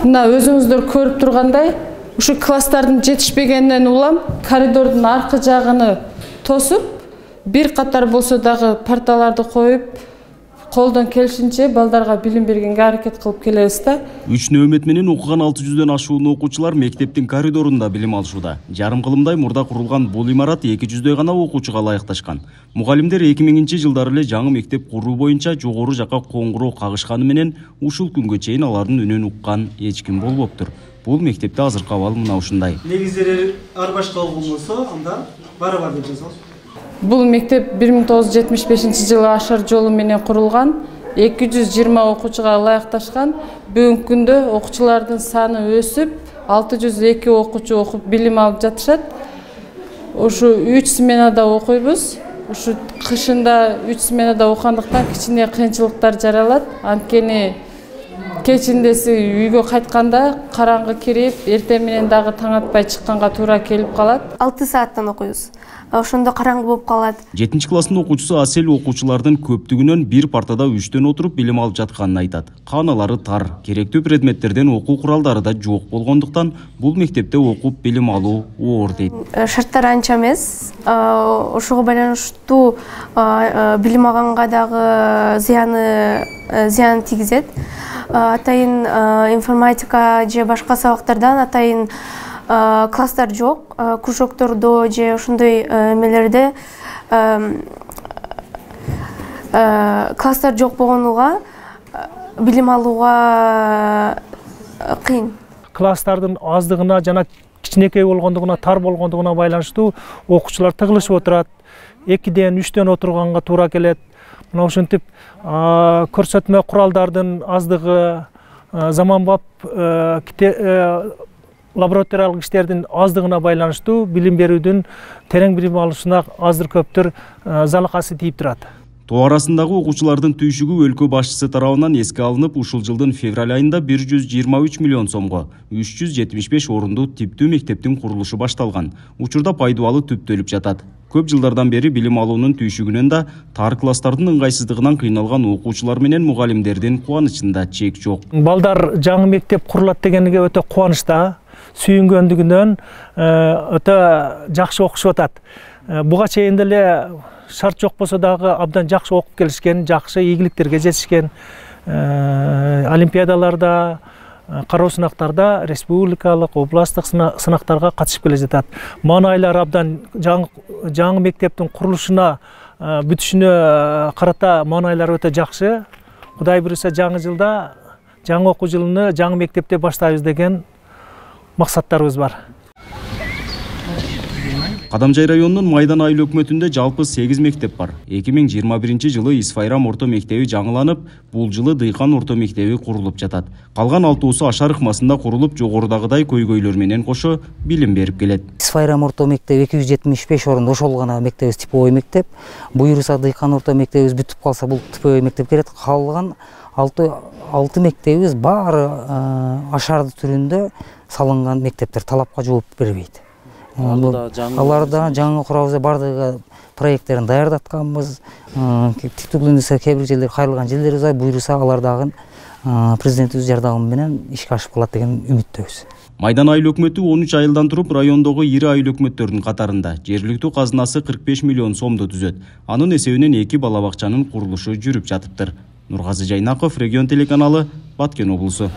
Мына өзүңүздөр көрүп тургандай, ушу класстардын жетишпегенинен улам коридордун аркы жагыны тосуп, бир катар болсо дагы парталарды коюп, колдон келишинче балдарга билим бергенге аракет кылып келебиз да. 3 нөөмөт менен окуган 600дөн ашуун окуучулар мектептин коридорунда билим алышууда. Жарым кылымдай мурда курулган бул имарат 200дөй гана окуучуга ылайыкташкан. Мугалимдер 2000-жылдары эле жаңы мектеп куруу боюнча жогору жакка коңгуроо кагышканы менен ушул күнгө чейин алардын үнүн уккан эч ким болбоптур. Бул мектепте азыркы абал мына ушундай. Негиздери ар башка болсо, анда барабар деп жазабыз. Бул мектеп 1975-жылы ашар жолу менен курулган, 220 окуучуга ылайыкташкан. Бүгүнкү күндө окуучулардын саны өсүп, 602 окуучу окуп билим алып жатышат. Ушу 3 сменада окуйбуз. Ушу кышында 3 сменада окугандыктан кичине кыйынчылыктар жаралат. Анткени кечиндеси үйгө кайтканда караңгы кирип, эртең менен дагы таң атпай чыкканга туура келип калат. 6 сааттан окуйбуз. Ошондо караңгы болуп калат. 7 класстын окуучусу Асель окуучулардын көптүгүнөн бир партада 3төн отуруп билим алып жатканын айтат. Кааналары тар, керектүү предметтерден окуу куралдары да жок болгондуктан бул мектепте окуп билим алуу оор дейт. Шарттар анча эмес. Ошого байланыштуу билим алганга дагы зыян тийгизет. Атайын информатика же башка сабактардан атайын класстар жок, кружоктордо же ошондой эмелерде класстар жок болгонуга билим алууга кыйын. Класстардын аздыгына жана кичинекей болгондугуна, тар болгондугуна байланыштуу окуучулар тыгылышып отурат. 2ден 3төн отурганга туура келет. Мына ошентип көрсөтмө куралдардын аздыгы, заманбап лабораториялык иштердин аздыгына байланыштуу билим берүүдүн терең билим алышына азыр көптөр залакасы тийип турат. Тоо арасындагы окуучулардын түйшүгү өлкө башчысы тарабынан эске алынып, ушул жылдын февраль айында 123 миллион сомго 375 орундуу типтүү мектептин курулушу башталган. Учурда пайдубалы түптөлүп жатат. Көп жылдардан бери билим алуунун түйшүгүнөн да тар класстардын ыңгайсыздыгынан кыйналган окуучулар менен мугалимдердин кубанычында чек жок. Балдар жаңы мектеп курулат дегенге өтө кубанычта, сүйүнгөндүгүнөн өтө жакшы окушуп атат. Буга чейин деле шарт жок болсо дагы абдан жакшы окуп келишкен, жакшы ийгиликтерге жетишкен. Олимпиадаларда, кароо сынактарда, республикалык, областтык сынактарга катышып келе жатат. Маанайлар абдан жаңы мектептин курулушуна, бүтүшүнө карата маанайлар өтө жакшы. Кудай буюрса жаңы жылда, жаңы окуу жылыны жаңы мектепте баштайбыз деген максаттарыбыз бар. Кадамжай районунун Майдан айыл өкмөтүндө жалпы 8 мектеп бар. 2021-жылы Исфайрам орто мектеби жаңыланып, бул жылы Дыйкан орто мектеби курулуп жатат. Калган 6-сы Ашар ыкмасында курулуп, жогорудагыдай көйгөйлөр менен кошо билим берип келет. Исфайрам орто мектеби 275 орунду ошол гана мектебибиз типовой мектеп. Буюрса Дыйкан орто мектебибиз бүтүп калса, бул типовой мектеп келет. Калган 6 мектебибиз баары Ашарды түрүндө салынган мектептер, талапка жооп бербейт. Аларда жаңы курабыз, бардыгы проекттерин даярдатканбыз. Тиктүүлүндө кээ бир жерлер кайрылган жерлерибиз бар. Буюрса алардагы президентибиз жардамы менен ишке ашып калат деген үмүттөбүз. Майдан айыл өкмөтү 13 айылдан туруп райондогу ири айыл өкмөттөрдүн катарында. Жергиликтүү казынасы 45 миллион сомду түзөт. Анын эсебинен 2 бала бакчанын курулушу жүрүп жатыптыр. Нургазы Жайнаков, Регион телеканалы, Баткен облусу.